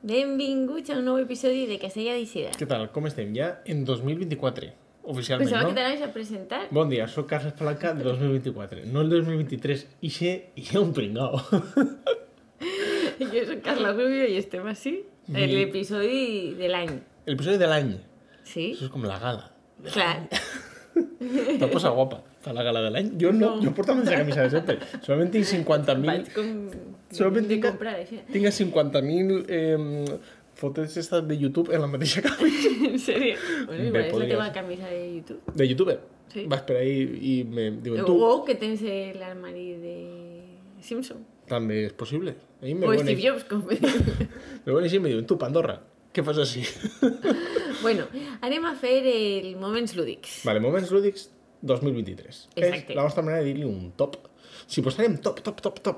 Benvinguts a un nou episodi de Casella d'Eixida. Què tal? Com estem? Ja en 2024, oficialment, Pensava no? que t'anaves a presentar. Bon dia, soc Carles Palanca de 2024, no el 2023. Ixe un pringao. Jo soc Carla Rubio i estem així en l'episodi de l'any. L'episodi de l'any. Sí? Això és com la gala. Clar. Te posa guapa per la gala de l'any. Jo no, jo porto la mateixa camisa de sempre. Solament tinc 50.000... Vaig com... Solament de tinc, comprar, això. tinc 50.000 fotos estas de YouTube en la mateixa camisa. En sèrio? Bueno, igual és la podria teva ser. camisa de YouTube. De YouTuber. Sí. Vas per ahí i me diuen tu. O que tens l'armari de Simpson. També és possible. Ahí me O ponen- Steve Jobs, com... me ponen així i me diuen, tu, Pandorra, què fas així? Bueno, anem a fer el Moments Lúdics. Vale, Moments Lúdics 2023. Exacte. És la nostra manera de dir-li un top. Si posarem top,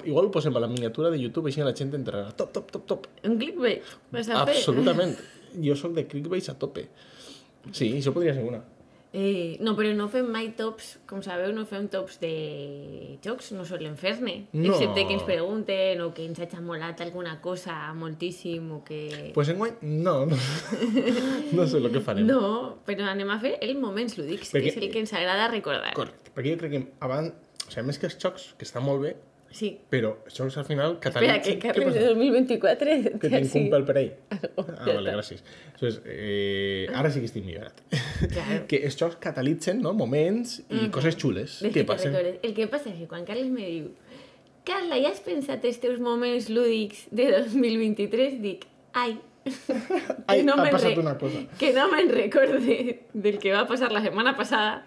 igual ho posem a la miniatura de YouTube, així la gent entrarà. Top. Un clickbait vas a fer? Absolutament. Jo sóc de clickbait a tope. Sí, això podria ser una. No, però no fem mai tops, com sabeu, no fem tops de jocs, no solem fer-ne. No. Excepte que ens pregunten o que ens hagi molat alguna cosa moltíssim o que... Pues enguany, no sé el que farem. No, però anem a fer el Moments Lúdics, Perquè- que és el que ens agrada recordar. Correcte, perquè jo crec que abans, o sigui, més que els xocs, que estan molt bé, Sí. però els xocs al final Espera, catalitzen... que Carles de 2024... Que tinc un pèl per ahí. Ja Vale, està. gràcies. Entonces, ara sí que estic millorat. Claro. Que els jocs catalitzen, no?, moments i coses xules Des que que passen. recordes. El que passa és que quan Carles me diu Carla, ja has pensat els teus moments lúdics de 2023? Dic, ai, Ai, no ha me'n passat una cosa. Que no me'n recorde del que va passar la setmana passada,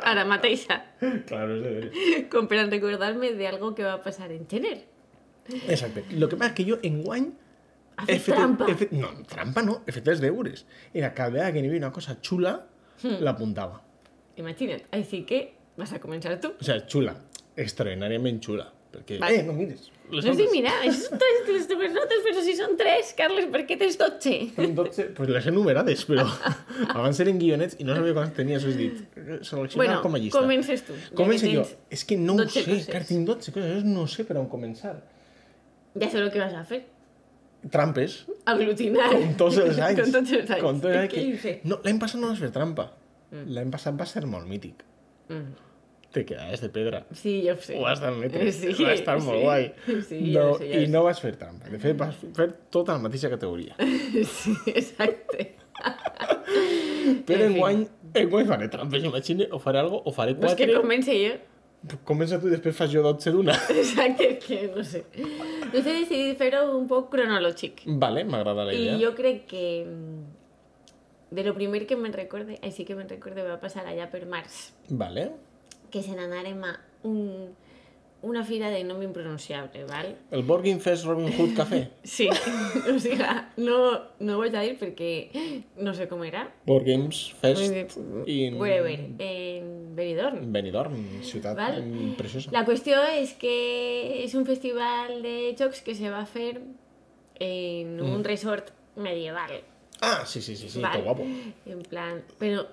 ara mateixa, Claro, és de veres. com per a recordar-me d'algo que va passar en gener. Exacte. Lo que passa és que jo enguany... Ha fet trampa. No, trampa no, he fet els deures. Era cada vegada que n'hi havia una cosa xula, l'apuntava. Imagina't. Així que vas a començar tu. O sigui, xula, extraordinàriament xula. Perquè, Vale. no mires. No estic mirant, això són les teves notes, però si són 3, Carles, per què tens 12? Tinc 12, pues les he numerades, però abans eren guionets i no sabia quants tenia, això és dit. Seleccionar Bueno, com a llista. comences tu. ja Comença que jo. tens És que no ho 12 sé, coses. que tinc 12 coses, no sé per on començar. Ja sé el que vas a fer. Trampes, Aglutinar. com tots els anys. Com tots els anys. Com tots els anys És que ho sé. No, l'any passat no vas fer trampa. L'any passat va ser molt mític. Te quedaves de pedra. Sí, jo ho sé. Ho vas admetre. Sí, va estar molt guai. Sí, no, ja ho sé, I no vas fer trampa. De fet, vas fer tota la mateixa categoria. Sí, exacte. Però En fi. enguany faré trampes, imagine, o faré algo, o faré Pues que 4. comenci jo. Comença tu i després fas jo 12 d'una. Exacte, és que no sé. No sé, he decidit fer-ho un poc cronològic. Vale, m'agrada la idea. I jo crec que de lo primer que me'n recorde, així que me'n recorde, va passar allà per març, Vale. que se n'anàrem a una fira de nom impronunciable, val? El Borgin Fest Robin Hood Café. Sí, o sigui, no ho vaig a dir perquè no sé com era. Board Games Fest in Wherever, en Benidorm. Benidorm, ciutat Val? preciosa. La qüestió és que és un festival de jocs que se va fer en un resort medieval. Ah, sí, val? tot guapo. En plan, però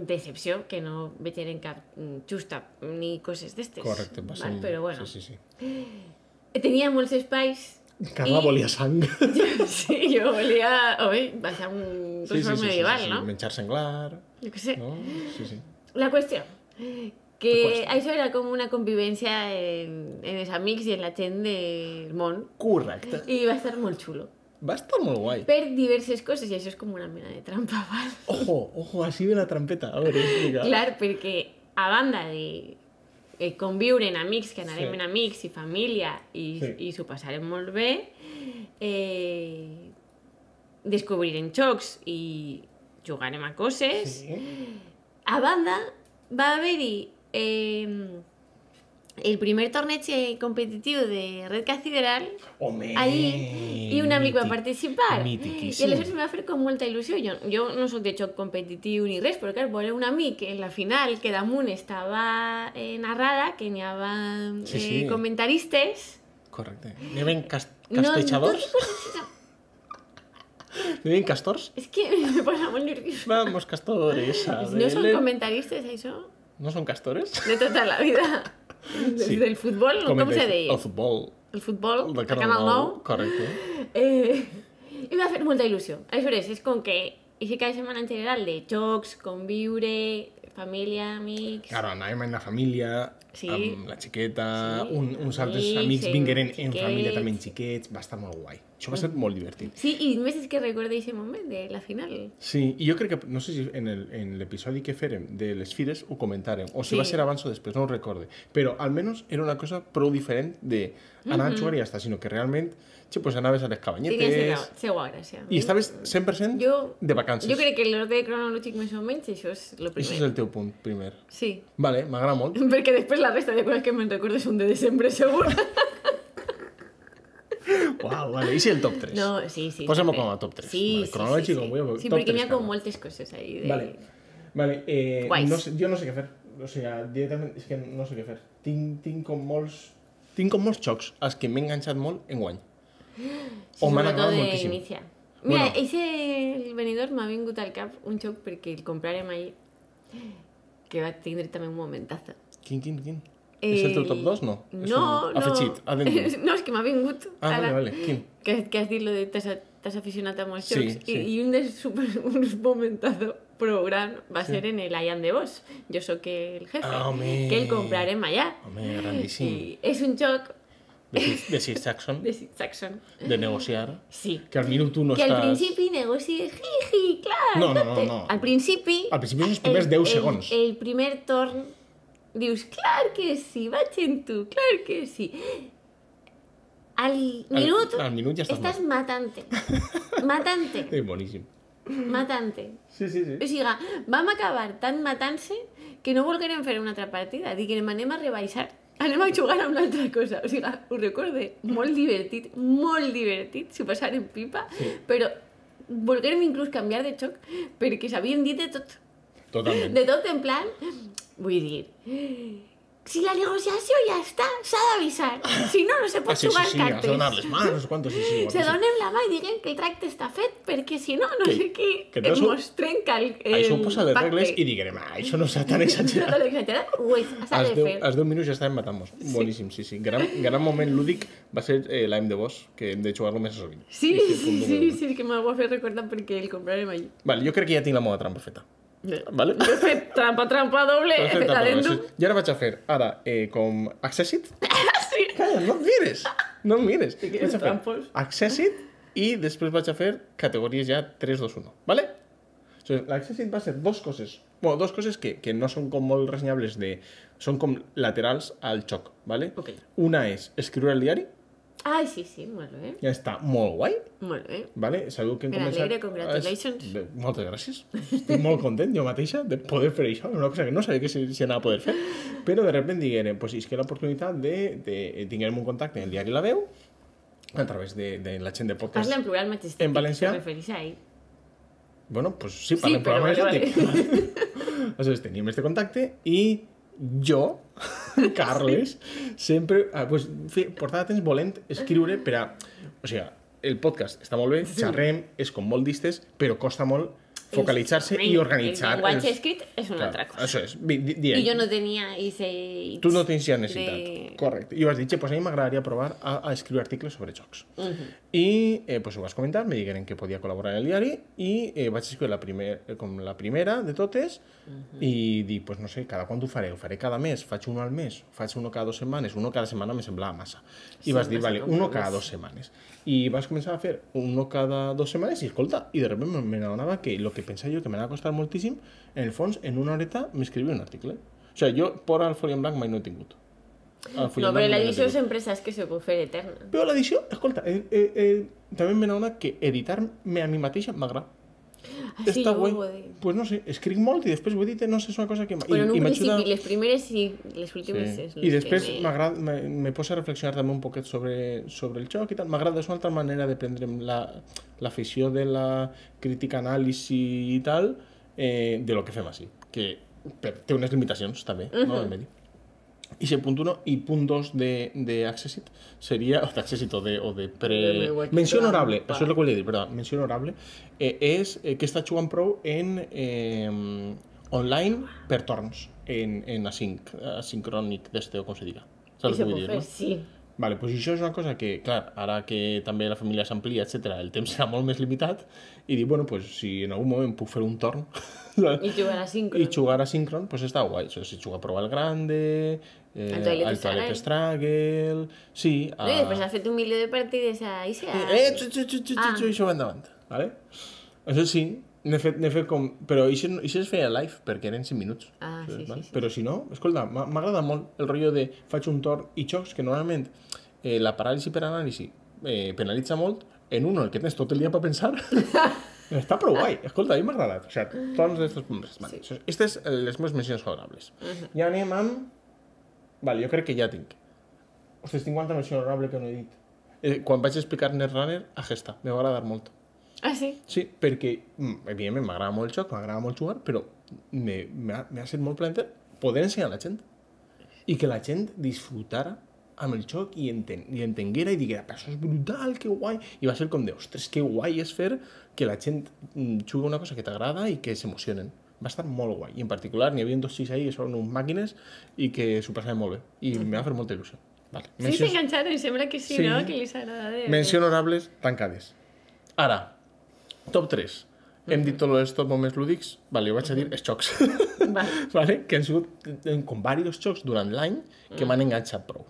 decepció, que no veig en cap justa ni coses d'estes. Correcte, va ser... val? Però bueno, Sí. tenia molts espais. Carla volia sang. Sí, jo volia, baixar un resort medieval, no? Menjar senglar, Jo què sé. no? Sí. La qüestió, que qüestió? això era com una convivència en els amics i en la gent del món Correcte. i va estar molt xulo. Va estar molt guai. Per diverses coses, i això és com una mena de trampa, val? Ojo, així ve la trampeta. A veure, explica. Clar, perquè a banda de conviure en amics, que anarem Sí. en amics i família Sí. i s'ho passarem molt bé, descobrirem jocs i jugarem a coses. Sí. A banda, va haver-hi el primer torneig competitiu de Red Cathedral Home, allí i un amic va participar. I Mitiquíssim. aleshores em va fer com molta il·lusió. Jo no sóc de joc competitiu ni res, però clar, veure un amic en la final que damunt estava narrada, que n'hi havia Sí. comentaristes. Correcte. N'hi havia castejadors? N'hi havia castors? És que me posa molt nerviosa. Vamos, castores. No són comentaristes, això? No són castores? De tota la vida. Des Sí. del futbol, no? Com se deia? El futbol. El futbol, De de Canal 9. Correcte. I m'ha fet molta il·lusió. Aleshores, és com que aquest cada setmana en general de jocs, conviure, família, amics... Claro, anàvem en la família, Sí. amb la xiqueta, Sí, uns altres amics, amics vingueren en xiquets. família també xiquets, va estar molt guai. Això va ser molt divertit. Sí, i més és que recordo aquest moment de la final. Sí, i jo crec que, no sé si en l'episodi que fèrem de les fires ho comentàrem, o si Sí. va ser abans o després, no ho recorde, però almenys era una cosa prou diferent de anar a jugar i ja està, sinó que realment, pues anaves a les Tenia cabanyetes seva gràcia. i estaves 100% de vacances. Jo crec que l'ordre cronològic més o menys això és el Això és primer. el teu punt primer. Sí, Vale, m'agrada molt. perquè després la resta de coses que me'n recordo són de desembre, segur. Uau, vale. I si el top 3? No, sí. Posem-ho també. com a top 3. Sí, Vale, cronològic, com vull, Sí, top perquè n'hi 3 ha com cada. moltes coses ahí. De... Vale, Guais. no sé, jo no sé què fer. O sigui, directament és que no sé què fer. Tinc com molts xocs als que m'he enganxat molt en guany. O m'han Sobretot agradat moltíssim. d'inicia. Mira, Bueno. el venidor m'ha vingut al cap un xoc perquè el comprarem ahir, que va tindre també un momentazo. Quin? És el teu top 2? No. És No, un afegit, addendum. No, és que m'ha vingut Ah, ara. vale. Quin? Que has dit lo de t'has aficionat a molts Sí, jocs sí. i un dels uns momentazo prou gran va ser en el Ian de Bosch. Jo sóc el jefe, Ah, home. que el comprarem allà. Home, grandíssim. I és un joc De Sir Saxon, de Sid Saxon. de negociar, Sí. que al minut 1 no Que al estàs... principi negocies, jiji, clar. No. Al principi... Al principi són els primers 10 segons. El primer torn dius, clar que sí, vaig en tu, clar que sí. Al minut, al minut ja estàs matant-te. Matant-te. Boníssim. Matant-te. Sí. O sigui, vam acabar tan matant-se que no volguérem fer una altra partida. Diguem, anem a rebaixar, anem a jugar a una altra cosa. O sigui, ho recorde, molt divertit, s'ho passaren pipa, Sí. però volguérem inclús canviar de xoc perquè s'havien dit de tot. Totalment. De tot en plan, vull dir, si la negociació ja està, s'ha d'avisar. Si no, no se pot Sí, jugar has de cartes. donar les mans, no sé quantos, sí. Se guapíssim. donem la mà i diguem que el tracte està fet, perquè si no, no sé què, que tot mos trenca el Això ho posa les pacte. regles i diguem, això no està tan No exagerat. t'ho exagerat, ho és, s'ha de fer. Als 10 minuts ja estàvem matant-nos. Boníssim, sí. Gran moment lúdic va ser l'AIM de Boss, que hem de jugar-lo més sovint. Sí, És el punt número u. és que m'ho ha fet recordar perquè el comprarem allí. Vale, jo crec que ja tinc la meva trampa feta. Vale? Jo he fet trampa doble, he fet adendum. I ara vaig a fer, com Accessit. Sí. Calla, no em mires. que Vaig a fer trampos. Accessit i després vaig a fer categories ja 3, 2, 1. Vale? L'Accessit va ser dos coses que no són com molt ressenyables, són com laterals al xoc, vale? Ok. Una és escriure el diari, Ai, sí, molt bé. ja està molt guai, Molt bé. vale? Sabeu que hem Ben començat... alegre, congratulations. Moltes gràcies. Estic molt content jo mateixa de poder fer això, una cosa que no sabia que si anava a poder fer, però de repente diguem, pues és que l'oportunitat de tinguem un contacte en el diari La Veu, a través de la gent de podcast. Parla en plural majestàtic. En valencià? Se refereix a ell. Bueno, pues sí, parlem però programa vale, exòtic. Aleshores, teníem este contacte i jo, Carles, sempre pues, portava temps volent escriure per a... O sigui, el podcast està molt bé, xerrem, és com molt distes, però costa molt focalitzar-se i organitzar... El llenguatge escrit és una altra cosa. Això és, I jo no tenia ese... Tu no tens ja necessitat. de- Correcte. I vas dir, pues a mi m'agradaria provar a escriure articles sobre jocs. I pues ho vas comentar, me digueren que podia col·laborar en el diari i vaig escriure com la primera de totes i dic, pues no sé, cada quant ho faré? Ho faré cada mes? Faig uno al mes? Faig uno cada 2 setmanes? Uno cada setmana me semblava massa. I vas dir, vale, uno cada 2 setmanes. I vas començar a fer uno cada 2 setmanes i escolta, i de repente me n'adonava que el que pensava jo que m'anava a costar moltíssim, en el fons, en una horeta m'escrivia un article. O sigui, jo por al Folio en Blanc mai no he tingut. No, però l'edició sempre saps que se pot fer eterna. Però l'edició, escolta, també me n'adona que editar-me a mi mateixa m'agrada. Ah, sí, Està jo guai. ho he dit. Pues no sé, escric molt i després ho he dit, no sé, és una cosa que... Però en un m'ajuda- principi, les primeres sí, les últimes és... I després me posa a reflexionar també un poquet sobre el joc i tal. M'agrada, és una altra manera de prendre l'afició de la crítica, anàlisi i tal, de lo que fem així. Que té unes limitacions també, no, del medi. I si punt 1 i punt 2 d'Accessit seria, o d'Accessit o de menció honorable, això és el que volia dir, perdó, menció honorable, és que està jugant prou en online per torns, en asincrònic d'este, o com se diga. Saps el que vull dir, no? Sí. Vale, doncs això és una cosa que, clar, ara que també la família s'amplia, etc, el temps serà molt més limitat i dic, bueno, doncs si en algun moment puc fer un torn I jugar a síncron. i jugar a síncron, doncs està guai. O sigui, si jugar a Prova al Grande, al Toilet Struggle... Sí, No, i després has fet un milió de partides a ISEA. Això va endavant, vale? Això sí, n'he fet com... Però això es feia live, perquè eren 5 minuts. Sí. Però si no, escolta, m'agrada molt el rotllo de faig un torn i xocs, que normalment la paràlisi per anàlisi penalitza molt, en uno el que tens tot el dia per pensar, està prou guai. Escolta, a mi m'ha agradat. O sigui, torns d'estos punts. Vale. Aquestes les meves mencions favorables. Ja anem amb... Vale, jo crec que ja tinc. Ostres, tinc quanta menció honorable que no he dit. Quan vaig explicar Netrunner, a Gesta, me va agradar molt. Ah, sí? Sí, perquè, evidentment, m'agrada molt el joc, m'agrada molt jugar, però m'ha set molt plaenter poder ensenyar a la gent. I que la gent disfrutara amb el joc i entenguera i diguera, però això és brutal, que guai. I va ser com de, ostres, que guai és fer que la gent jugui una cosa que t'agrada i que s'emocionen. Va estar molt guai. I en particular n'hi havia 2 xics ahí que són uns màquines i que s'ho passaven molt bé. I me va fer molta il·lusió. Vale. Sí, s'enganxaron, sembla que sí, no? Que li s'agrada. Mencions honorables tancades. Ara, top 3. Hem dit tots els top moments lúdics. Vale, jo vaig a dir els xocs. Vale? Que han sigut com diversos xocs durant l'any que m'han enganxat prou.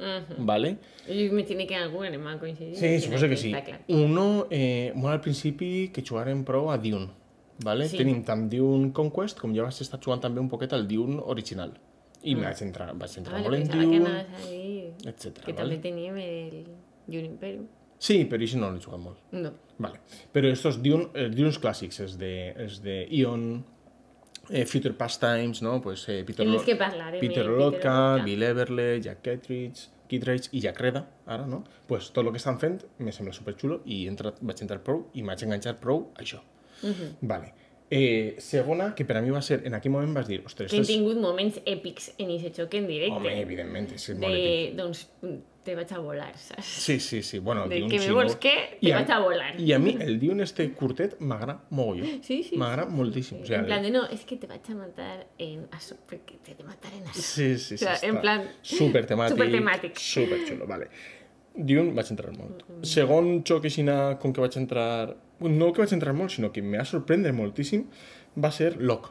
Vale? I me tiene que algú anem a coincidir. Sí, suposo que sí. Uno, molt al principi que jugarem prou a Dune. Vale? Sí. Tenim tant Dune Conquest com ja vaig estar jugant també un poquet al Dune original. I vaig entrar molt en Dune, etcètera. Que també teníem el Dune Imperium. Sí, però això no l'he jugat molt. No. Vale. Però estos Dunes clàssics, els de Ion, Future Pastimes, no? Pues, Peter Lotka, Bill Everly, Jack Kittredge i Jack Reda, ara, no? Pues tot el que estan fent me sembla superxulo i vaig entrar prou i m'haig enganxat prou a això. Vale. Segona, que per a mi va ser, en aquell moment vas dir, ostres... Que hem tingut moments èpics en aquest xoc en directe. Home, evidentment, és molt èpic. Doncs te vaig a volar, saps? Sí. Bueno, de que me vols què, te vaig a volar. I a mi el Dune este curtet m'agrada mogolló. Sí. M'agrada moltíssim. O sea, en plan de, no, és que te vaig a matar en això, perquè te he de matar en això. Sí. O sea, en plan... Supertemàtic. Superxulo, vale. Dune vaig entrar molt. Segon xoc aixina com que vaig entrar... No que vaig entrar molt, sinó que m'ha sorprendre moltíssim, va ser Lock.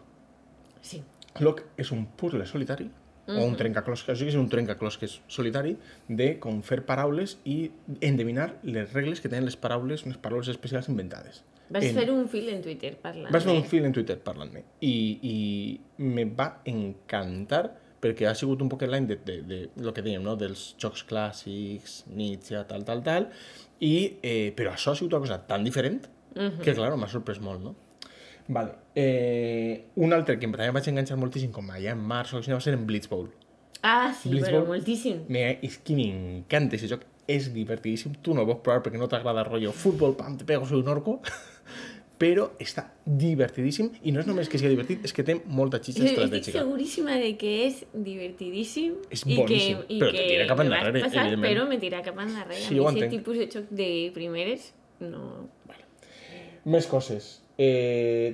Sí. Lock és un puzzle solitari, o un trencaclosques, o sigui que és un trencaclosques solitari de com fer paraules i endevinar les regles que tenen les paraules, unes paraules especials inventades. Vas fer un fil en Twitter parlant. Vas fer un fil en Twitter parlant-ne. I me va encantar perquè ha sigut un poquet l'any de lo que dèiem, no? Dels jocs clàssics, Nietzsche, tal, però això ha sigut una cosa tan diferent que, clar, m'ha sorprès molt, no? Vale. Un altre que també vaig enganxar moltíssim, com allà en març o així, va ser en Blitzball. Ah, sí, però moltíssim. És que m'encanta aquest joc, és divertidíssim. Tu no el vols provar perquè no t'agrada el rotllo futbol, pam, te pego, soy un orco. Però està divertidíssim i no és només que sigui divertit, és que té molta xitxa estratègica. Estic seguríssima de que és divertidíssim. És boníssim, però te tira cap endarrere, evidentment. Però me tira cap endarrere. Sí, ho entenc. Aquest tipus de xoc de primeres, no... Més coses.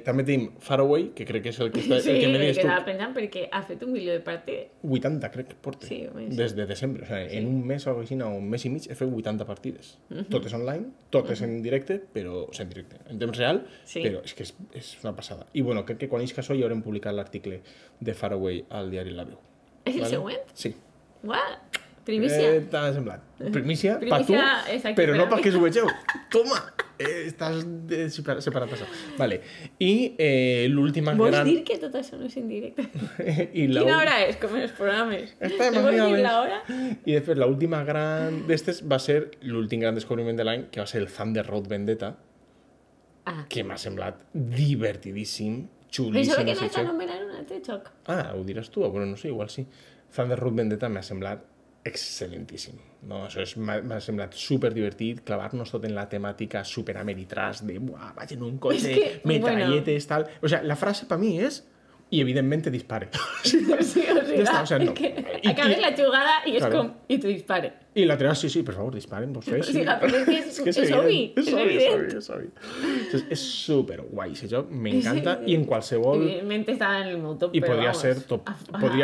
També tenim Faraway, que crec que és el que, el que me deies tu. Sí, estava pensant perquè ha fet un milió de partides. 80, crec que porta. Sí, des de desembre. O sigui, en un mes o així, o un mes i mig, he fet 80 partides. Totes online, totes en directe, però... O sigui, en directe, en temps real, però és que és una passada. I bueno, crec que quan isca això ja haurem publicat l'article de Faraway al diari La Veu. És el següent? Sí. Uau! Primícia. T'ha semblat. Primícia per tu, exacte, però no perquè ho vegeu. Toma! Estàs separat això. Vale. I l'última gran... Vols dir que tot això no és en directe? Quina hora és, com en els programes? Vols dir l'hora? I després l'última gran d'estes va ser l'últim gran descobriment de l'any, que va ser el Thunder Road Vendetta, que m'ha semblat divertidíssim, xulíssim. Pensava que no s'anomenava un altre xoc. Ho diràs tu? Bueno, no sé, igual sí. Thunder Road Vendetta m'ha semblat excel·lentíssim. No? Això m'ha semblat superdivertit, clavar-nos tot en la temàtica superameritràs de vaig en un cotxe, metralletes, tal... O sigui, la frase per mi és i evidentment te dispare. Sí, o sigui, està, o sea, no. acabes la jugada i és Claro. com, i te dispare. I l'altre, sí, per favor, disparen vostès. O sigui, però és que és evident, obvi, és és obvi, evident. és obvi. És superguai, aquest joc m'encanta i en qualsevol... Evidentment estava en el meu top, I però podria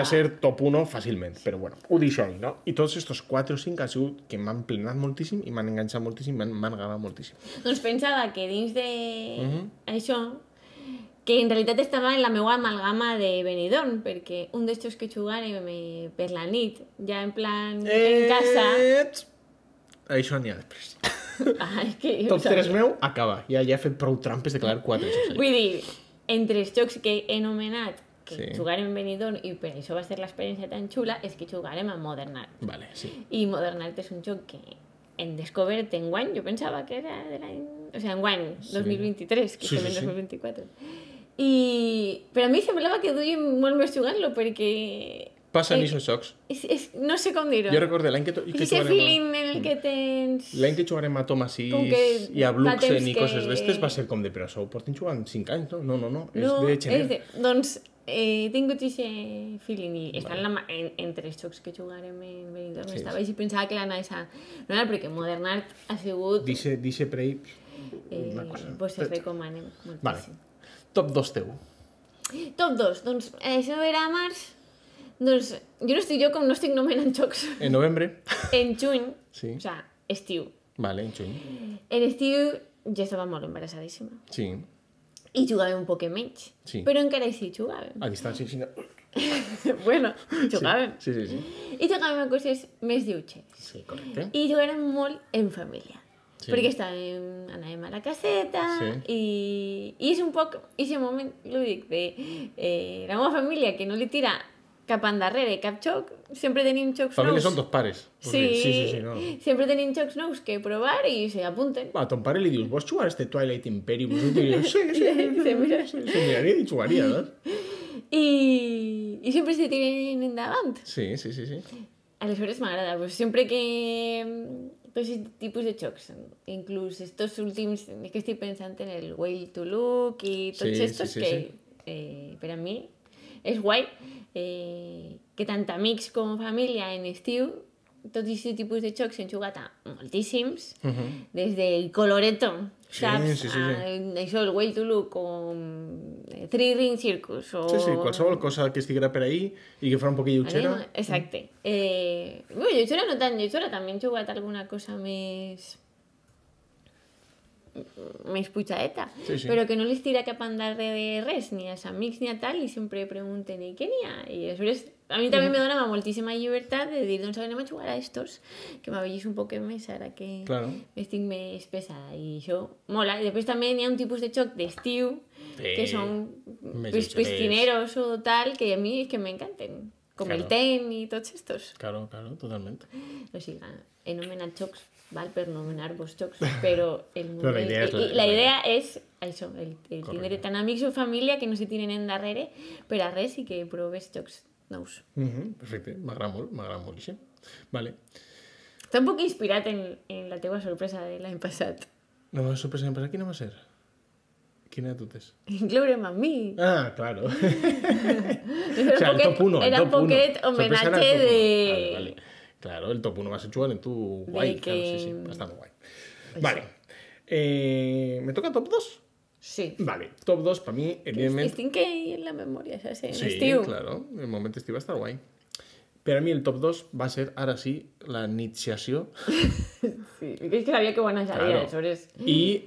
vamos. ser top 1 fàcilment, però bueno, ho deixo ahí, no? I tots estos 4 o 5 han sigut que m'han plenat moltíssim i m'han enganxat moltíssim, m'han agradat moltíssim. Doncs pensava que dins de això, que en realitat estava en la meva amalgama de Benidorm, perquè un d'estos que jugarem per la nit, ja en plan en casa... Això n'hi ha després. És que, Top 3 meu, acaba. Ja he fet prou trampes de declarar 4 jocs. vull dir, entre els jocs que he anomenat que Sí. jugarem Benidorm i per això va ser l'experiència tan xula, és que jugarem a Modern Art. Vale, sí. I Modern Art és un joc que hem descobert enguany, jo pensava que era de l'any... O sigui, enguany, 2023, que Sí, estem sí, en sí. 2024. Però a mi semblava que duia molt més jugant-lo, perquè... Passen aquests jocs. No sé com dir-ho. Jo recordo l'any que És aquest feeling en el que tens... L'any que jugarem a Thomas Com que i a fa Bluxen temps i que- coses d'estes va ser com de però això ho porten jugant 5 anys, no? No, és No, de gener. doncs he tingut aquest feeling i està entre els jocs que jugarem en Benidorm. Sí, Estava així, pensava que l'anava a... No era perquè Modern Art ha sigut... Dice Prey, una cosa. Pues es recomanem moltíssim. Vale. Top 2 teu. Top 2, doncs això era a març. Doncs jo com no estic nomenant jocs En novembre. en juny, Sí. o sigui, estiu. Vale, en juny. En estiu ja estava molt embarassadíssima Sí. i jugàvem un poc menys, Sí. però encara així jugàvem. A distància, sí. Bueno, jugàvem. Sí. I jugàvem a coses més lleugeres. Sí, correcte. I jugàvem molt en família. Sí. Perquè anàvem a la caseta i és un poc aquest moment lúdic de la meva família que no li tira cap endarrere cap joc, sempre tenim jocs Família nous. són 2 pares. Sí, No. sempre tenim jocs nous que provar i se apunten. A ton pare li dius, vols jugar a este Twilight Imperium? I diu, sí. Se mira. Se miraria i jugaria, no? I sempre se tiren endavant. Sí. Aleshores m'agrada, pues sempre que tots aquests tipus de jocs, inclús estos últims, és que estic pensant en el Way to Look i tots estos que per a mi és guai que tant amics com família en estiu tots aquests tipus de jocs hem jugat a moltíssims, des del Coloretto, saps? Això, el Way to Look o Three Ring Circus o... Sí, qualsevol cosa que estiguera per ahí i que farà un poquillo lleugera. Exacte. Bueno, lleugera no tan lleugera, també hem jugat alguna cosa més putxadeta, Sí. però que no les tira cap endarrere de res, ni als amics ni a tal, i sempre pregunten i què n'hi ha? I aleshores a mi també me dona moltíssima llibertat de dir, doncs anem a jugar a estos, que m'avellís un poc més ara que estic més pesada, i això mola. I després també n'hi ha un tipus de joc d'estiu que són piscineros o tal, que a mi és que m'encanten, com el ten i tots estos. Claro, totalment. O sigui, he nomenat jocs, val per nomenar-vos jocs, però la idea és això, el tindre tant amics o família que no se tiren endarrere per a res i que proves jocs nous. Perfecte, m'agrada molt això. Vale. Està un poc inspirat en la teua sorpresa de l'any passat. La meva sorpresa l'any passat, quina va ser? Quina de totes? Incloure'm a mi. Ah, claro. Era el top 1. Era un poquet homenatge de... Vale. Claro, el top 1 va ser jugar en tu guai. Que... Claro, sí, va estar molt guai. Vale. ¿Me toca top 2? Sí. Vale, top 2 per mi, evidentment... Estic ahí en la memòria, saps? En sí, estiu. claro, el moment estiu va estar guai. Per a mi el top 2 va ser, ara sí, la iniciació. Sí, és que sabia que ho anajaria, aleshores... I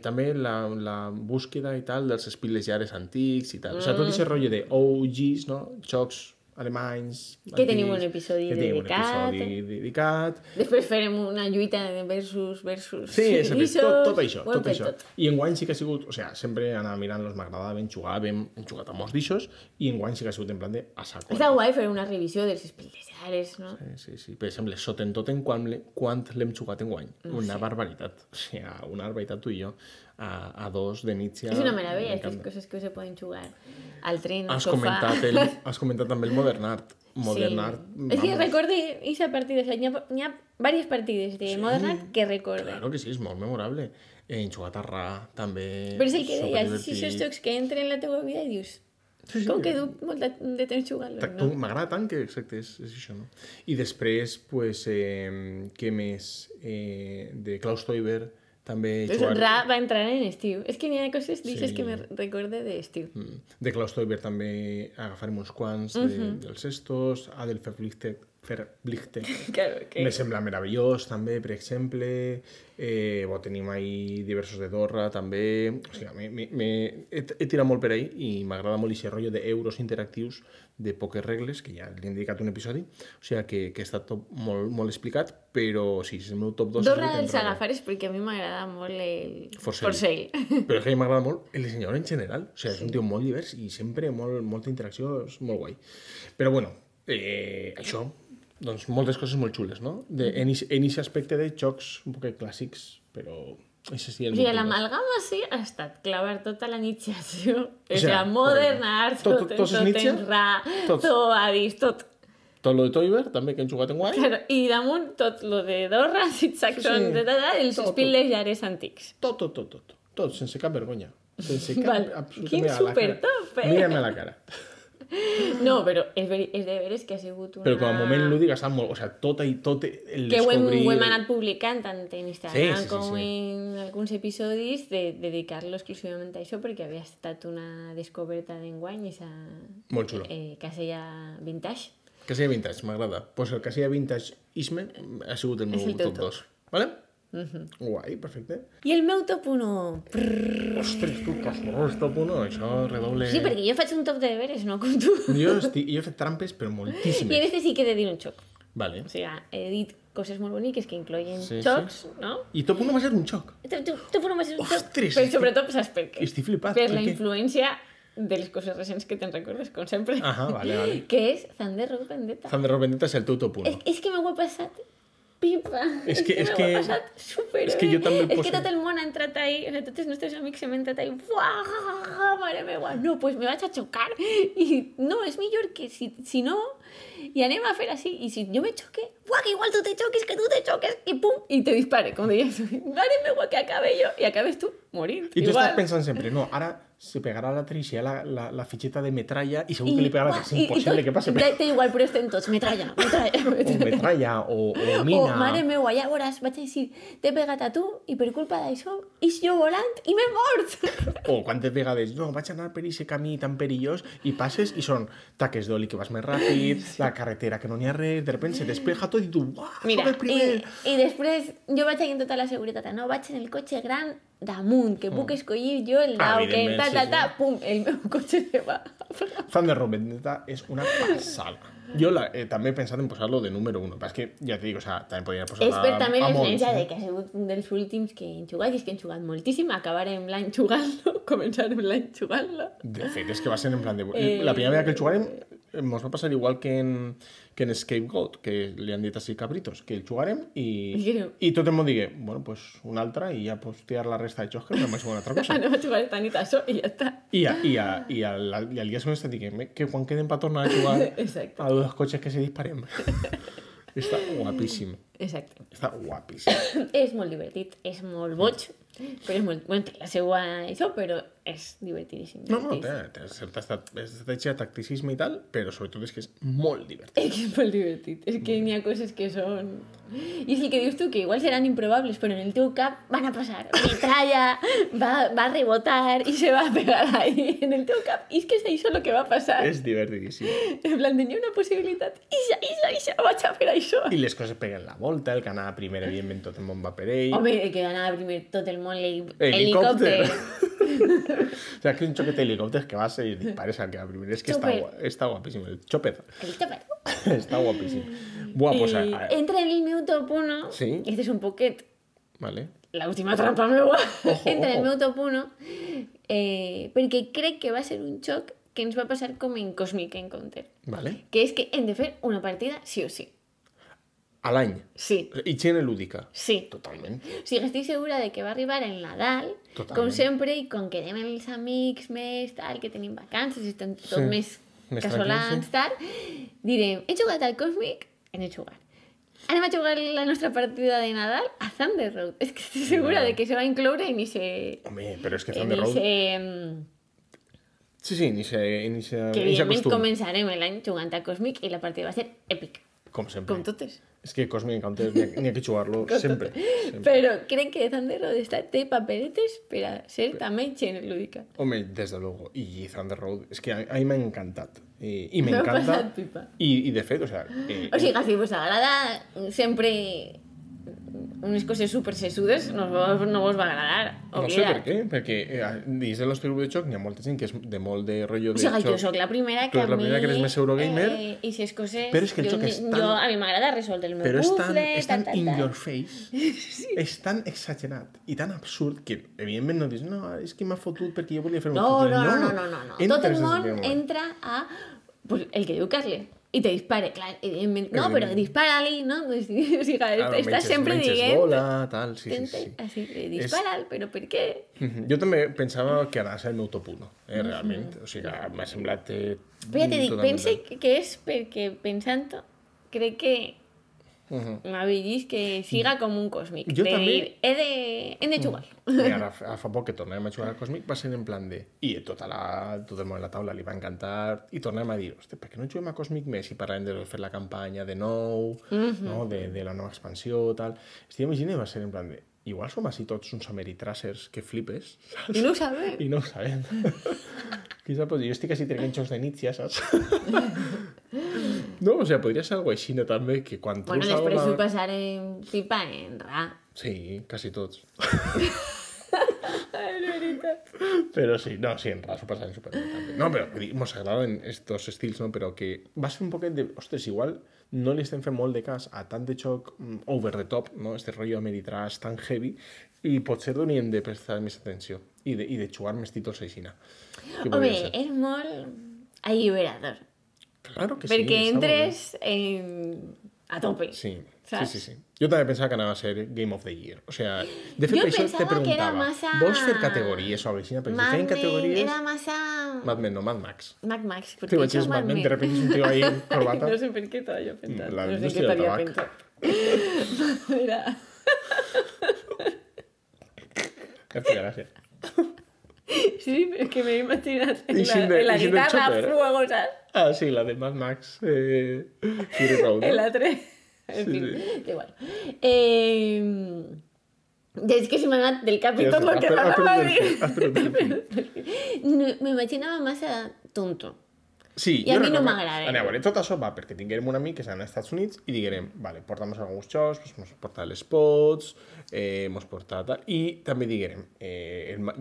també la búsqueda i tal dels espiles antics i tal. O sigui, tot aquest rotllo de OGs, no? Jocs alemanys... Que tenim un episodi dedicat. Després farem una lluita versus... Sí, tot això. I enguany sí que ha sigut... O sigui, sempre anava mirant-los, m'agradaven, jugàvem, hem jugat a molts d'ixos, i enguany sí que ha sigut en plan de a saco. Està guai fer una revisió dels espildejares, no? Sí. Per exemple, Sotentoten, quan l'hem jugat enguany? Una barbaritat. O sigui, una barbaritat tu i jo. A 2 de nit ja... És una meravella, aquestes coses que se poden jugar al tren, al sofà. Has comentat també el Modern Art. Modern Art... És que recordo aquesta partida, hi ha diverses partides de Modern Art que recordo. Claro que sí, és molt memorable. Hem jugat a Ra, també... Però és el que deies, si aquests jocs que entren en la teva vida i dius, Sí, sí. Com que duc molt de temps jugant-lo, no? M'agrada tant que, exacte, és això, no? I després, pues, què més? De Klaus Teuber, també Pues Ra va entrar en estiu. És que n'hi ha coses d'aixes Sí. que me recorde d'estiu. De Klaus Teuber també agafarem uns quants dels estos. Adel Verlichte, Claro, que... me sembla meravellós, també, per exemple. Tenim ahí diversos de Dorra, també. O sigui, he tirat molt per ahí i m'agrada molt aquest rotllo d'euros interactius de poques regles, que ja li he dedicat un episodi. O sigui, que està tot molt, molt explicat, però sí, és el meu top 2. Dorra dels agafares perquè a mi m'agrada molt el Forsell. Però és que a mi m'agrada molt el dissenyador en general. O sigui, és un tio molt divers i sempre molta interacció, és molt guai. Però bueno, això, doncs moltes coses molt xules, no? En aquest aspecte de jocs un poc clàssics, però... Això sí, O sigui, l'amalgama sí ha estat clavar tota la iniciació. O sigui, sigui, Modern Arts, tot en Ra, tot Addis, tot. Tot lo de Teuber, també, que hem jugat en guai. Claro, i damunt tot lo de Dorra, Saxon, els Spilles llares antics. Tot, sense cap vergonya. Sense cap... absolutament Quin a la cara. supertop, Mírame a la cara. No, però és de veres que ha sigut una... Però com a moment lúdic ha estat molt... O sigui, tot el que ho descobrir... hem anat publicant tant en Instagram Sí. com en alguns episodis de dedicar-lo exclusivament a això perquè havia estat una descoberta d'enguany i Molt xulo. casella vintage. Casella Vintage, m'agrada. Pues el Casella Vintage Isme ha sigut el meu el teu top 2. Vale? Guai, perfecte. I el meu top 1... Ostres, tu, castorós, top 1, això redoble... Sí, perquè jo faig un top de deberes, no com tu. Jo he fet trampes, però I en moltíssimes. este sí que he de dir un xoc. Vale. O sigui, he dit coses molt boniques que incloïen Sí, xocs, no? I top 1 va ser un xoc. Top 1 va ser un xoc, Ostres, però és que- sobretot saps per què? Estic flipat. Per per la què? influència de les coses recents que te'n recordes, com sempre. Ahà, vale. Que és Thunder Road Vendetta. Thunder Road Vendetta és el teu top 1. És que m'ho he passat pipa. És que- m'ho he passat superbé. és que jo també el És poso- que tot el món ha entrat ahí, o sigui, tots els nostres amics s'han entrat ahí. Buah, mare meva, no, pues me vaig a xocar. I no, és millor que si no, i anem a fer així. I si jo me xoque, buah, que igual tu te choques, que tu te choques, i pum, i te dispare, com deies. Mare meva, que acabe jo, i acabes tu morint. I tu igual. estàs pensant sempre, no, ara se pegarà la Tricia la fitxeta de metralla i segur que li pegarà, és impossible que passi. Té igual, però estem tots, metralla. O metralla, o mina... O, mare meua, ja veuràs, vaig a dir, t'he pegat a tu i per culpa d'això ix jo volant i m'he mort. O quantes vegades, no, vaig anar per aquest camí tan perillós i passes i són taques d'oli que vas més ràpid, la carretera que no n'hi ha res, de repente se despeja tot i tu, uah, Mira, soc el primer. i després jo vaig allà amb tota la seguretat, no, vaig en el cotxe gran damunt, que puc escollir jo el dau, que Evidentment, sí. pum, el meu cotxe se va. Thunder Road Vendetta és una passada. Jo també he pensat en posar-lo de número 1, però és que ja t'he dit, o sea, també podria posar-la És per també a molts. l'experiència de que ha sigut un dels últims que hem jugat, i és que hem jugat moltíssim, acabarem l'any jugant-lo, començarem l'any jugant-lo. De fet, és que va ser en plan de... La primera vegada que el jugarem ens va passar igual que en Scapegoat, que li han dit així cabritos, que el jugarem i tot el món digui, bueno, pues una altra i ja pots tirar la resta de jocs que no vaig jugar una altra cosa. Anem a jugar esta nit a això i ja està. I al dia següent estem dient que quan queden per tornar a jugar Exacte. a dos cotxes que se disparem. Està guapíssim. Exacte. Està guapíssim. És molt divertit, és molt boig, però és molt... Bueno, té la seva això, però és divertidíssim. No, té certa estratègia, tacticisme i tal, però sobretot és que és molt divertit. És que és molt divertit. És que n'hi ha coses que són... I és el que dius tu, que igual seran improbables, però en el teu cap van a passar. Metralla, va a rebotar i se va a pegar ahí en el teu cap. I és que és això el que va passar. És divertidíssim. En plan, tenia una possibilitat. Ixa, vaig a fer això. I les coses peguen la volta, el que anava primer, evidentment, tot el món va per ell. Home, el que anava primer tot el món, Helicòpter. helicòpter. O sea, que és un xoquet d'helicòpters que vas i dispares al que va primer. És que està guapíssim. El chopper. El xopper. Està guapíssim. Buah, pues... Entra en el meu top 1. Sí. Este és un poquet Vale. l'última trampa meua. Entra en el ojo. meu top 1 perquè crec que va ser un xoc que ens va passar com en Cosmic Encounter. Vale. Que és que hem de fer una partida sí o sí. A l'any. Sí. Higiene lúdica. Sí. Totalment. O sigui, estic segura de que va arribar el Nadal, Totalment. com sempre, i com que anem els amics més, tal, que tenim vacances i estem tot més casolans, tal, direm, he jugat al Cosmic, hem de jugar. Anem a jugar la nostra partida de Nadal a Thunder Road. És que estic segura de que se va incloure en ese... Home, però és que en Thunder Road... ese... Sí, sí, ni Que se evidentment acostuma. començarem l'any jugant a Cosmic i la partida va ser èpica, Com sempre. com totes. És que Cosmic Encounter n'hi ha que jugar-lo sempre. Però crec que Thunder Road té paperetes per a ser també gent lúdica. Home, desde luego. Y Thunder Road, es que a mí me ha encantado. Y me M'ho he encanta. passat pipa. Y de fet, o sea, O sigui, si vos agrada sempre unes coses super sesudes, no vos va agradar. no sé per què, perquè dins de l'Hostel de Xoc n'hi ha molta gent que és de molt de rotllo O de sigui, jo xoc. sóc la primera Tu que ets la primera que eres més Eurogamer. I si coses... Però és que el joc és tan- A mi m'agrada resoldre el meu Però puzzle, és tan in tal. your face, és tan exagerat i tan absurd que, evidentment, no dius, no, és que m'ha fotut perquè jo volia fer un No, puzzle. no. Tot Entres el des del món primer moment. entra a pues, el que diu Carle i te dispare, clar, evidentment. No, però dispara-li, no? O sigui, Claro, estàs sempre dient... bola, tal, sí. Així, dispara'l, però per què? Jo també pensava que anava a ser el meu top 1, realment. O sigui, m'ha semblat... Però ja t'he dit, pense que és perquè pensant-ho, crec que m'ha vist que siga com un còsmic. Jo de també. dir, hem de jugar. I ara fa poc que tornàvem a jugar al Cosmic va ser en plan de... I tot el món de la taula li va encantar i tornàvem a dir, hosti, per què no juguem a Cosmic més i parlàvem de fer la campanya de nou, no? de la nova expansió, tal. Estic imaginant i va ser en plan de... Igual som així tots uns ameritràssers que flipes, saps? I no ho sabem. I no ho sabem. Qui sap? Jo estic així traient jocs de nit, ja saps? No, o sigui, podria ser alguna així, també, que quan Bueno, treus després alguna... ho passarem pipa en ra. Sí, quasi tots. És veritat. Però sí, no, sí, en ras ho passarem superbé també. No, però vull dir, mos agraden estos estils, no? Però que va ser un poquet de... Ostres, igual no li estem fent molt de cas a tant de xoc over the top, no? Este rotllo ameritrash tan heavy, i potser hauríem de prestar més atenció i de jugar més títols aixina. Home, és molt alliberador. Claro que sí. Perquè està molt bé. entres a tope. Sí, saps? sí. Jo també pensava que anava a ser Game of the Year. O sea, de fet, Jo per això te pensava que era preguntava, massa... vols fer categories o alguna cosa? Perquè si Mad feien Men categories... era massa... Mad Men, no, Mad Max. Mad Max. Te vaig dir Mad Men, de repente és un tio ahí, corbata. No sé per què t'havia pensat. La no sé indústria què del t'havia tabac. pensat. Mira. Gràcies. Sí, però és que m'he imaginat I sin de- la i sin del guitarra chopper. fuego, saps? Ah, sí, la de Mad Max. Fury Road. En ¿no? la 3. En Sí, fin, sí. da igual. És que se m'ha anat del cap i Ja tot està, el que has m'anava a perdut el fil, dir. No, m'imaginava massa tonto. Sí, I a jo mi no recordo- m'agrada. A veure, tot això va perquè tinguérem un amic que s'ha als Estats Units i diguérem, vale, porta'm alguns xocs, pues, mos porta les pots, mos porta tal, i també diguérem,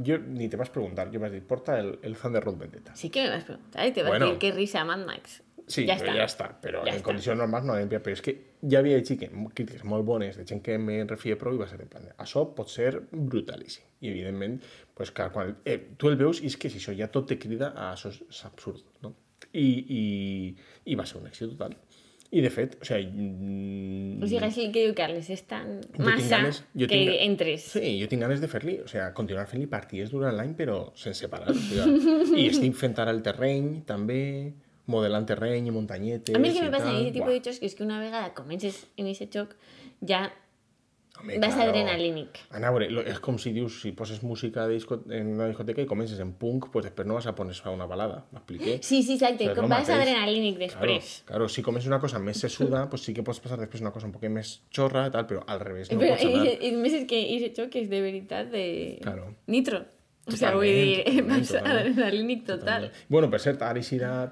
jo ni te vas preguntar, jo vas dir, porta el Thunder Road Vendetta. Sí que me vas preguntar i te vas Bueno. dir que risa Mad Max. Sí, ja però està. ja està, però Ja en està. condicions normals no l'hem pillat, però és que ja havia llegit crítiques molt bones de gent que me refia prou i va ser en plan, això pot ser brutalíssim. I evidentment, pues, clar, quan tu el veus i és que si això ja tot te crida a això és absurd, no? I va ser un èxit total. I de fet, o sigui... O sigui, així que diu Carles, és tan Jo tinc massa ganes- jo que tinc- entres. Sí, jo tinc ganes de fer-li, o sigui, continuar fent-li partides durant l'any, però sense parar. O sigui, I estic fent ara el terreny, també, modelant terreny i muntanyetes. A mi el que i me passa en tal. aquest tipus Buah. de jocs és que una vegada comences en aquest joc ja Home, vas claro. adrenalínic. A veure, és com si dius, si poses música en una discoteca i comences en punk, pues després no vas a poner a una balada, m'expliqué? Sí, exacte, O sigui, és com lo vas mateix. adrenalínic després. Claro, si comences una cosa més sesuda, pues sí que pots passar després una cosa un poc més xorra, tal, però al revés no Però, pots anar. i més és que aquest joc és de veritat de Claro. nitro. O sigui, vull Totalment, dir, totalment, vas totalment. adrenalínic total. Bueno, per cert, ara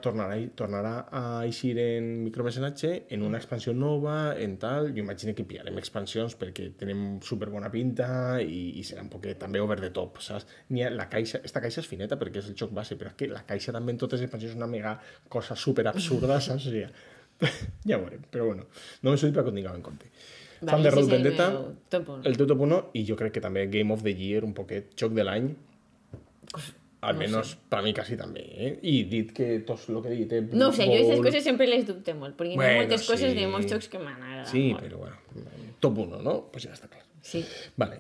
tornarà a eixir en micromecenatge en una expansió nova, en tal. Jo imagino que pillarem expansions perquè tenim superbona pinta i serà un poquet també over the top, saps? La caixa, esta caixa és fineta perquè és el joc base, però és que la caixa també en totes les expansions és una mega cosa super absurda, saps? O sigui, ja ho veurem, però bueno, no m'he sortit per que ho tingueu en compte. Thunder Road Vendetta, el teu top 1, i jo crec que també Game of the Year, un poquet, joc de l'any, almenys per mi quasi també, I dit que tot el que he dit... No ho sé, jo aquestes coses sempre les dubte molt, perquè hi ha Bueno, moltes coses sí. de molts jocs que m'han agradat Sí, molt. però bueno, top 1, ¿no? Pues ya está claro. Sí, Vale.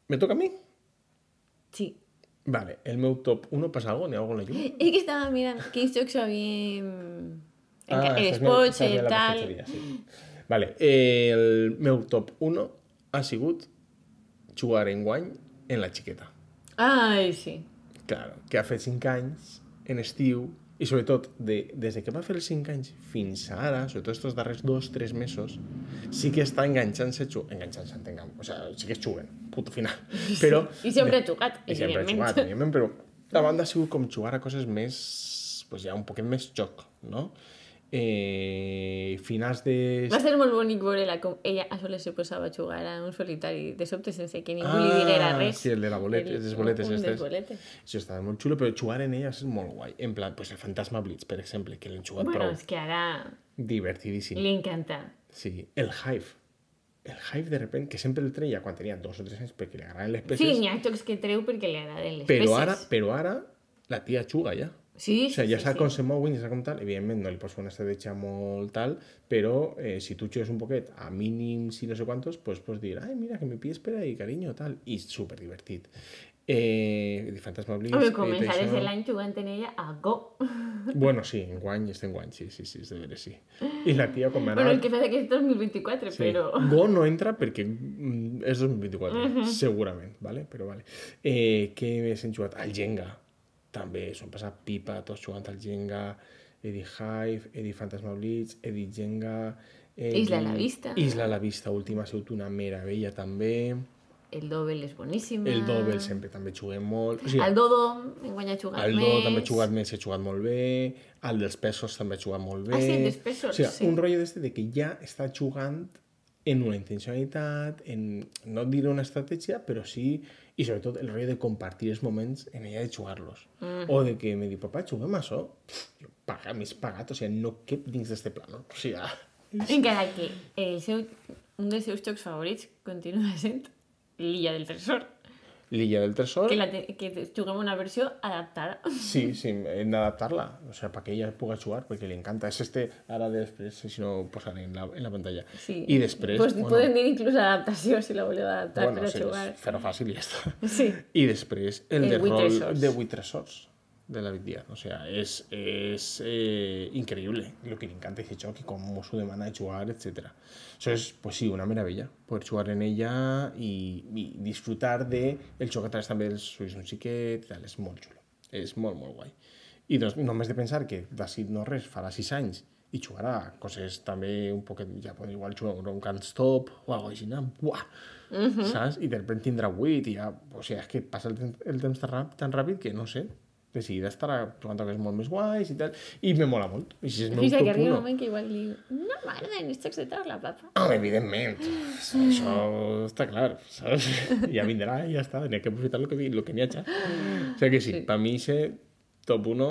¿Me toca a mí? sí. Vale, el meu top 1 passa algo? N'hi ha algo en la llum? És que estava mirant quins jocs havíem... estàs els mirant- pots estàs i mirant la tal... prestatgeria, sí. Vale, el meu top 1 ha sigut jugar enguany en la xiqueta. Ai, sí. Claro, que ha fet 5 anys en estiu i sobretot des que va fer els 5 anys fins ara, sobretot estos darrers 2-3 mesos, sí que està enganxant-se, entenguem, o sea, sí que es juguen, puto final. Però, I sempre ha jugat, I sempre ha jugat, evidentment, però la banda ha sigut com jugar a coses més, pues ja un poquet més joc, no? Finals de... Va ser molt bonic veure-la com ella a soles se posava a jugar a un solitari de sobte sense que ningú li diguera res. Sí, el de la boleta, les boletes un estes. dels boletes. Això estava molt xulo, però jugar en ella és molt guai. En plan, pues el Fantasma Blitz, per exemple, que l'hem jugat Bueno, prou. és que ara Divertidíssim. li encanta. Sí, el Hive. El Hive, de repente, que sempre el treia quan tenia 2 o 3 anys perquè li agraden les peces. Sí, n'hi ha jocs que treu perquè li agraden les però peces. ara la tia juga ja. Sí, O sigui, ja sí, sap sí. com se mouen, ja sap com tal. Evidentment, no li pots fer una estratègia molt tal, però si tu jugues un poquet a mínims i no sé quantos, pues pots dir, ai, mira, que me pides per ahí, cariño, tal. I super divertit. Fantasma Blitz... Home, començaràs l'any jugant en ella a Go. Bueno, sí, enguany, sí, és de veres, sí. I la tia, com Bueno, el que fa que és 2024, sí. però... Go no entra perquè és 2024, segurament, ¿vale? Però vale. Què més hem jugat? Al Jenga. També s'ho han passat pipa, tots jugant al Jenga, Eddie Hive, Eddie Fantasma Blitz, Eddie Jenga... Isla a la Vista. Isla a la Vista, última ha sigut una meravella també. El Dobel és boníssim. El Dobel sempre també juguem molt. O sigui, El Dodo, enguany ha jugat el més. Dodo també he jugat més, he jugat molt bé. El dels pesos també he jugat molt bé. Ah, sí, dels pesos, o sigui, sí. un rotllo d'este de que ja està jugant en una intencionalitat, en no diré una estratègia, però sí, i sobretot el rotllo de compartir els moments en ella de jugar-los. O de que me diu, papà, juguem a això? Jo, m'és pagat, o sigui, no cap dins d'este plan, no? O sigui, Encara que un dels seus jocs favorits continua sent l'Illa del Tresor. l'Illa del Tresor... Que juguem una versió adaptada. Sí, hem d'adaptar-la, o sea, para que ella pueda jugar, perquè li encanta. És ara després, si no ho posaré en la pantalla. Sí. I després... Pues podem dir inclús adaptació, si la voleu adaptar per a sí, jugar. fer-ho fàcil i ja està. Sí. I després el de Vuit rol tresors. de 8 tresors de la Díaz. O sea, es increíble lo que le encanta ese joc y cómo su demanda de jugar, etc. Eso es, pues sí, una meravella. Poder jugar en ella y disfrutar de el joc a través també dels ulls d'un xiquet, tal, és molt xulo. És molt, molt guai. I doncs, només de pensar que d'ací no res farà 6 anys i jugarà coses també un poquet, ja pot igual jugar un Can't Stop o alguna cosa així, buah! Saps? I de repente tindrà 8 i ja, o sigui, és que passa el temps tan ràpid que no sé, de seguida estarà jugant a coses molt més guais i tal, i me mola molt. I si és meu Fins que top arriba 1. un moment que igual diu, no m'agraden els jocs de taula, papa. Home, evidentment, això està clar, saps? Ja vindrà i ja està, n'hi ha que aprofitar lo que n'hi ha. O sigui que sí, per mi ese top 1,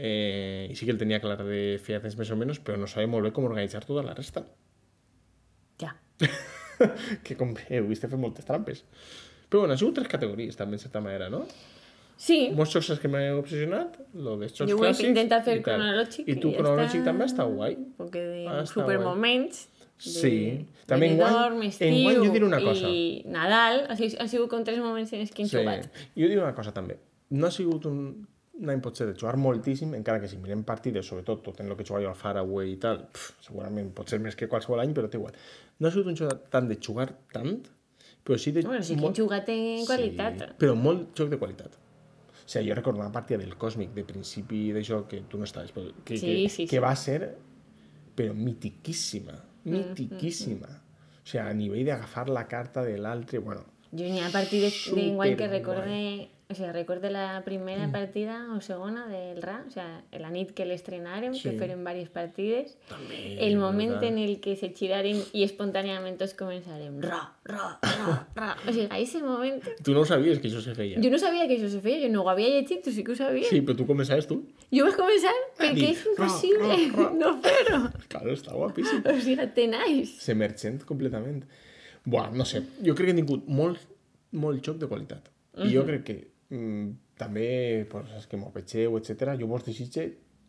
i sí que el tenia clar de fer temps més o menys, però no sabia molt bé com organitzar tota la resta. Ja. Que com heu vist, he fet moltes trampes. Però bueno, ha sigut 3 categories també, en certa manera, no? Sí. Molts jocs que m'he obsessionat, lo de jocs Jo ho he clàssics intentat fer i tal. cronològic. I tu cronològic també està guai. Perquè de Està supermoments. Sí. També Benidorm, enguany jo diré una cosa. I Nadal, o sigui, han sigut com 3 moments en els que hem jugat. Jo diré una cosa també. No ha sigut un any potser de jugar moltíssim, encara que si mirem partides, sobretot tot en el que jugava jo al Faraway i tal, segurament pot ser més que qualsevol any, però té igual. No ha sigut un joc tant de jugar tant, però sí de... Bueno, sí que hem jugat en qualitat. Sí, però molt joc de qualitat. O sigui, jo recordo una partida del Còsmic de principi de joc que tu no estaves, però que va ser però mitiquíssima. O sigui, a nivell d'agafar la carta de l'altre, bueno... Jo n'hi ha partides d'enguany que recorde... O sigui, recorde la primera partida o segona del RA, o sigui, la nit que l'estrenàrem, que feren diverses partides, el moment en el que se giraren i espontàniament tots començarem ra. O sigui, a ese moment... Tu no ho sabies que això se feia. Jo no sabia que això se feia, jo no ho havia llegit, tu sí que ho sabies. Sí, però tu començaves tu. Jo vaig començar perquè és impossible no fer-ho. Claro, està guapíssim. O sigui, tenaix. S'emergent completament. Buah, no sé, jo crec que he tingut molt joc de qualitat. I jo crec que també, pues, els que m'ho vegeu, etc., jo vos desitge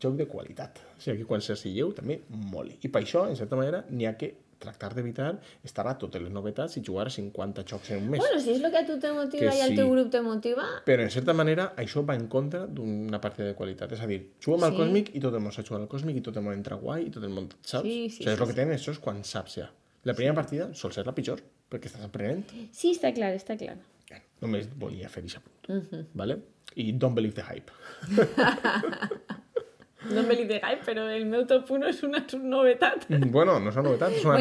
joc de qualitat. O sigui, que quan s'assilleu també moli. I per això, en certa manera, n'hi ha que tractar d'evitar estar a totes les novetats i jugar a 50 jocs en un mes. Bueno, si és el que a tu te motiva i al teu grup te motiva... Però, en certa manera, això va en contra d'una partida de qualitat. És a dir, juguem al Còsmic i tot el món s'ha jugat al Còsmic i tot el món entra guai i tot el món, saps? Sí, o sigui, és el que tenen, això és quan saps ja. La primera partida sol ser la pitjor, perquè estàs aprenent. Sí, està clar, està clar. Només volia fer aquest punt. Vale? I Don't Believe the Hype. No me li digáis, però el meu top 1 és una novetat. Bueno, no és una novetat, és una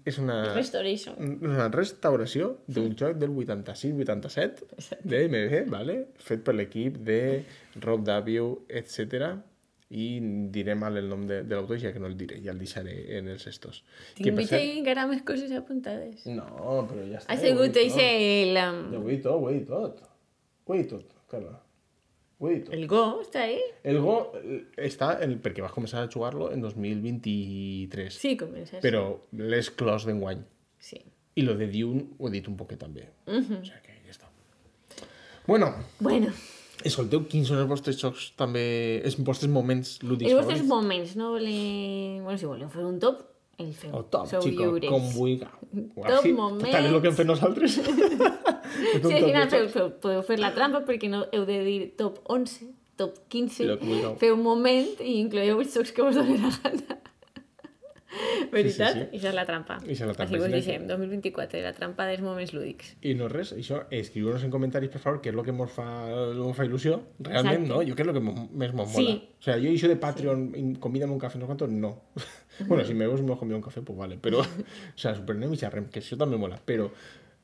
És una restoration. Una restauració d'un joc del 86-87 d'MB, vale? Fet per l'equip de Rob W, etc. I diré mal el nom de l'autor, ja que no el diré, ja el deixaré en els estos. Tinc vist encara més coses apuntades. No, però ja està. Ha sigut eixe el... Ho he dit tot, Carla. El Go està ahí? El Go està perquè vas començar a jugar-lo en 2023. Sí, comença. Però l'he clos d'enguany. Sí. I lo de Dune ho he dit un poquet també. O sigui que ja està. Bueno. Escolteu, quins són els vostres jocs també... Els vostres moments lúdics favorits? Els vostres moments, no volem... Bueno, si voleu fer un top, el feu. O top, sou xico, lliures. com vulga. Top moments. Tal és el que hem fet nosaltres. Sí, al final podeu fer la trampa perquè no heu de dir top 11, top 15, feu un moment i incloeu els jocs que vos donen la gana. Veritat? Sí. Això és la trampa. Així vos deixem, 2024, la trampa dels moments lúdics. I no res, això, escriu-nos en comentaris, per favor, què és el que ens fa il·lusió. Realment, exacte. No? Jo què és el que més m'ho mola. Sí. O sea, jo això de Patreon, convida'm un cafè, no quanto, no. Bueno, si me veus me convido un cafè, pues vale. Però, o sea, supernem i xerrem, que això també mola. Però,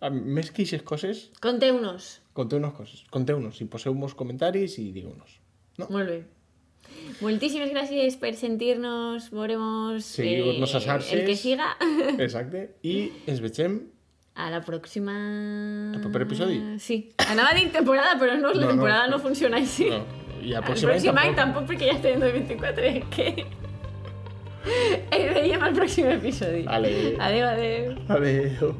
més que aquestes coses... Conteu-nos coses. Conteu-nos, i poseu-nos comentaris i digueu-nos. No? Molt bé. Moltíssimes gràcies per sentir-nos, veuremos seguir-nos a xarxes, el que siga. Exacte, i ens vegem a la pròxima... El proper episodi? Sí. Anava a dir temporada, però no, la temporada no funciona així. No. I el pròxim any tampoc, perquè ja estem en 2024, que... Ens veiem al pròxim episodi. Adéu. Adéu. Adéu.